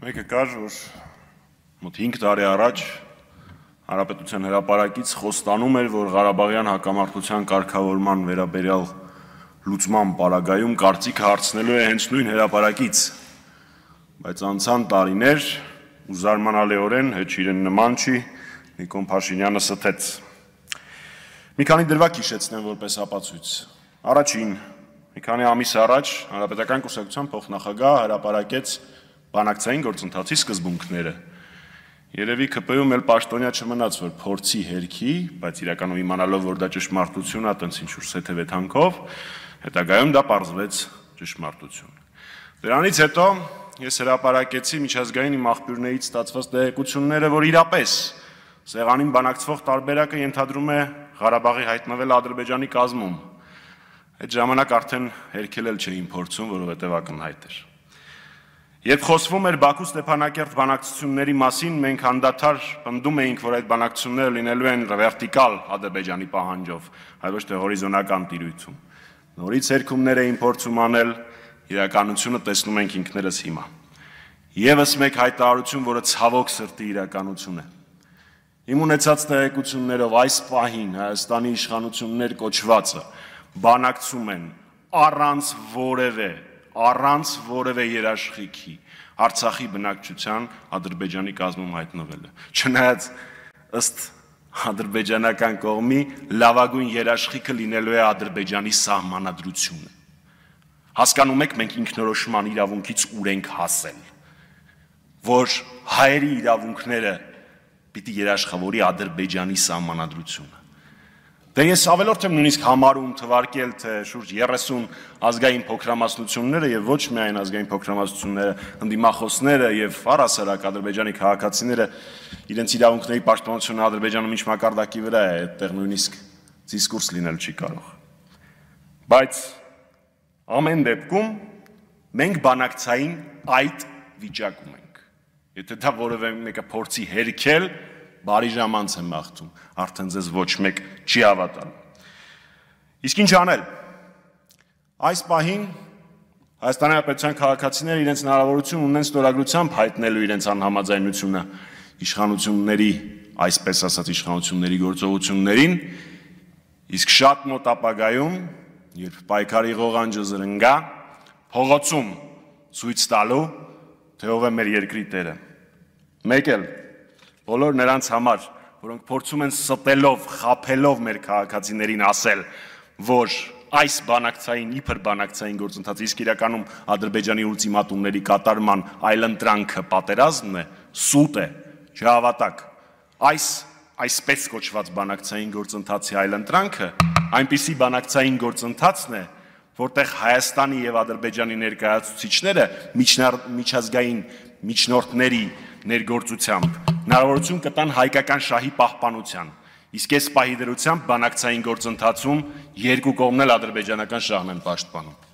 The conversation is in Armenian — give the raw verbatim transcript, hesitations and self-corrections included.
Մեկը կար, որ մոտ հինգ տարի առաջ Հանրապետության հրապարակից խոստանում էր, որ Ղարաբաղյան հակամարտության կարգավորման վերաբերյալ լուծման պարագայում կարծիքը հարցնելու է հենց նույն հրապարակից, բայց անցան տարիներ ու զարմանալիորեն հեչ իրեն նման չի, Նիկոլ Փաշինյանը ստեց։ Մի քանի դրվագ հիշեցնեմ որպես ապացույց։ Առաջին, մի քանի ամիս առաջ Հանրապետական կուսակցության փոխնախագահ հրապարակեց բանակցային գործընթացի սկզբունքները։ Երևի ՔՊ-ում էլ պաշտոնյա չմնաց, որ փորձի հերքի, բայց իրականում իմանալով, որ դա ճշմարտություն է, տենց ինչ-որ սեթև թանքով, հետագայում դա պարզվեց ճշմարտություն։ Դրանից հետո ես հրապարակեցի միջազգային իմ աղբյուրներից ստացված տեղեկությունները, որ իրապես սեղանին բանակցվող տարբերակը ենթադրում է Ղարաբաղի հայտնվել Ադրբեջանի կազմում։ Այդ ժամանակ արդեն հերքել էլ չէին փորձում, որովհետև ակնհայտ էր։ Երբ խոսվում էր Բաքու-Ստեփանակերտ բանակցությունների մասին, մենք անդադար պնդում էինք, որ այդ բանակցությունները լինելու են վերտիկալ Ադրբեջանի պահանջով, այլ ոչ թե հորիզոնական տիրույթում։ Նորից հերքումներ էին փորձում անել, իրականությունը տեսնում ենք ինքներս հիմա։ Եվս մեկ հայտարարություն, որը ցավոք սրտի իրականություն է։ Իմ ունեցած տեղեկություններով այս պահին Հայաստանի իշխանություններ կոչվածը բանակցում են առանց որևէ առանց որևէ երաշխիքի Արցախի բնակչության Ադրբեջանի կազմում հայտնվելը, չնայած ըստ ադրբեջանական կողմի լավագույն երաշխիքը լինելու է Ադրբեջանի սահմանադրությունը։ Հասկանում եք, մենք ինքնորոշման իրավունքից ուր ենք հասել, որ հայերի իրավունքները պիտի երաշխավորի Ադրբեջանի սահմանադրությունը։ Դե ես ավելորդ եմ նույնիսկ համարում թվարկել, թե շուրջ երեսուն ազգային փոքրամասնությունները եւ ոչ միայն ազգային փոքրամասնությունները, ընդդիմախոսները եւ առհասարակ ադրբեջանի քաղաքացիները իրենց իրավունքների պաշտպանությունը Ադրբեջանում ինչ մակարդակի վրա է, այդտեղ նույնիսկ դիսկուրս լինել չի կարող։ Բայց ամեն դեպքում մենք բանակցային այդ վիճակում ենք։ Եթե դա որևէ մեկը փորձի հերքել, բարի ժամանց եմ մաղթում, արդեն ձեզ ոչ մեկ չի հավատալու։ Իսկ ինչ անել։ Այս պահին Հայաստանի Հանրապետության քաղաքացիները իրենց հնարավորություն ունեն ստորագրությամբ հայտնելու իրենց անհամաձայնությունը իշխանությունների, այսպես ասած իշխանությունների գործողություններին, իսկ շատ մոտ ապագայում, երբ պայքարի ղողանջը զրնգա, փողոցում ցույց տալու, թե ով է մեր երկրի տերը։ Մեկ էլ բոլոր նրանց համար, որոնք փորձում են ստելով, խաբելով մեր քաղաքացիներին ասել, որ այս բանակցային, իբր բանակցային գործընթացը իսկ իրականում Ադրբեջանի ուլտիմատումների կատարման այլընտրանքը պատերազմն է, սուտ է, չհավատակ։ Այս այսպես կոչված բանակցային գործընթացի այլընտրանքը այնպիսի բանակցային գործընթացն է, որտեղ Հայաստանի եւ Ադրբեջանի ներկայացուցիչները միջազգային միջնորդների ներգործությամբ հնարավորություն կտան հայկական շահի պահպանության, իսկ այս պահի դրությամբ բանակցային գործընթացում երկու կողմն էլ ադրբեջանական շահն են պաշտպանում։